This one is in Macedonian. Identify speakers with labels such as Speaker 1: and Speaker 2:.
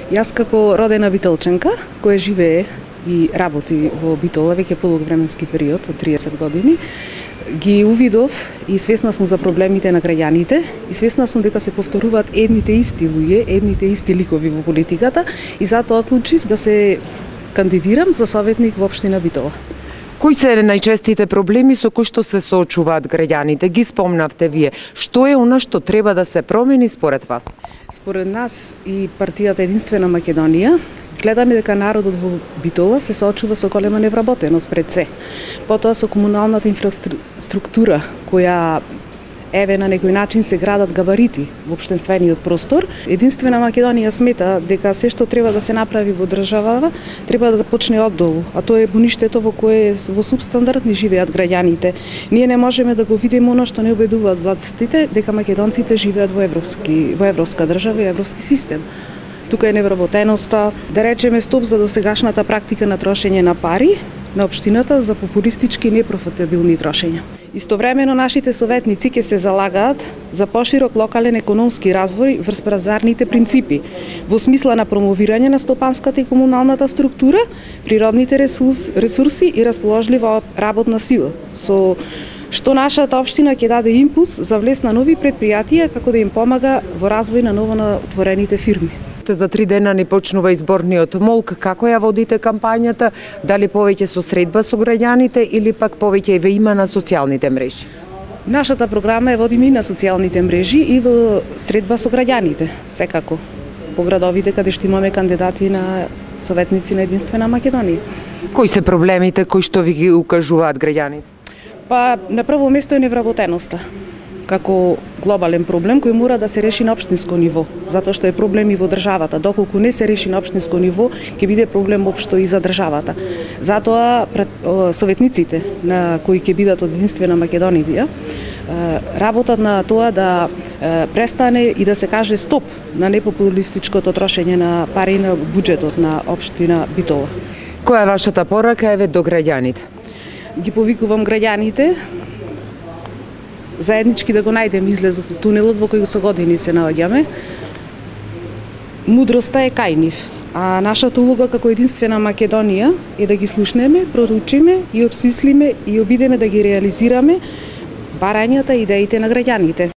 Speaker 1: Јас како родена битолченка, која живее и работи во Битола веќе подолг временски период од 30 години, ги увидов и свесна сум за проблемите на граѓаните и свесна сум дека се повторуваат едните исти луѓе, едните исти ликови во политиката и затоа одлучив да се кандидирам за советник во општина Битола.
Speaker 2: Кои се најчестите проблеми со кои што се соочуваат граѓаните? Ги спомнавте вие. Што е она што треба да се промени според вас?
Speaker 1: Според нас и партијата Единствена Македонија гледаме дека народот во Битола се соочува со голема невработеност пред се. Потоа со комуналната инфраструктура која еве на некој начин се градат габарити во општествениот простор. Единствена Македонија смета дека се што треба да се направи во државава треба да почне оддолу, а тоа е буништето во кое во субстандард не живеат граѓаните. Ние не можеме да го видиме оно што не убедуваат властите дека македонците живеат во европска држава и европски систем. Тука е невработеноста, да речеме стоп за досегашната практика на трошење на пари на општината за популистички и непрофитабилни трошења. Истовремено нашите советници ќе се залагаат за поширок локален економски развој врз пазарните принципи, во смисла на промовирање на стопанската и комуналната структура, природните ресурси и расположлива работна сила, со што нашата општина ќе даде импулс за влез на нови предпријатија како да им помага во развој на новоотворените фирми.
Speaker 2: За 3 дена ни почнува изборниот молк. Како ја водите кампањата? Дали повеќе со средба со граѓаните или пак повеќе ве има на социјалните мрежи?
Speaker 1: Нашата програма ја водиме и на социјалните мрежи и во средба со граѓаните, секако. По градовите каде што имаме кандидати на советници на Единствена Македонија.
Speaker 2: Кои се проблемите кои што ви ги укажуваат граѓаните?
Speaker 1: Па на прво место е невработеноста како глобален проблем кој мора да се реши на општинско ниво, затоа што е проблем и во државата. Доколку не се реши на општинско ниво, ќе биде проблем општо и за државата. Затоа советниците на кои ќе бидат од Единствена Македонија работат на тоа да престане и да се каже стоп на непопулистичкото трошење на пари на буџетот на општина Битола.
Speaker 2: Која е вашата порака еве до граѓаните?
Speaker 1: Ги повикувам граѓаните заеднички да го најдеме излезот од тунелот во кој со години се наоѓаме. Мудроста е кај нив, а нашата улога како Единствена Македонија е да ги слушнеме, проручиме и обсмислиме и обидеме да ги реализираме барањата и идеите на граѓаните.